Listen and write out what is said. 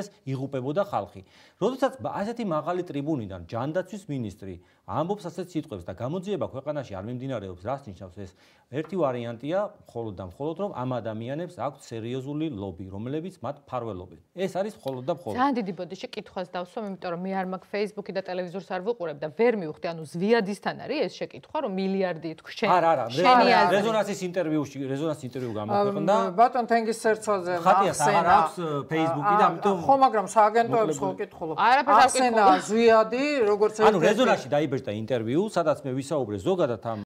იღუპებოდა ხალხი. როდესაც ასეთი მაღალი ტრიბუნიდან ჯანდაცვის მინისტრი ამბობს ასეთ სიტყვებს და გამოძიება ქვეყანაში არ მიმდინარეობს, რას ნიშნავს ეს? ერთი ვარიანტია, მხოლოდ და მხოლოდ რომ ამ ადამიანებს აქვთ სერიოზული ლობი, რომლებიც მათ ფარველობენ. ეს არის მხოლოდ და მხოლოდ. ძალიან დიდი ბოდიში კითხვას დავსვამ, იმიტომ რომ მე არ მაქვს Facebook-ი და ტელევიზორს არ ვუყურებ და ვერ მივხვდი, ანუ ზვიადისთან არის ეს შეკითხვა, რომ მილიარდი თქვენ. არა, რეზონანსის ინტერვიუ გამოქვეყნდა. ბატონ თენგისერცოზე ხატიას აღარ აქვს Facebook-ი და ამიტომ ხო, მაგრამ სააგენტოებს ხო ვკითხულობ. არაფერს არ ვკითხულობ. ახსენა ზვიადი, როგორც ანუ რეზონანსში დაიბეჭდა ინტერვიუ, სადაც მე ვისაუბრე ზოგადად ამ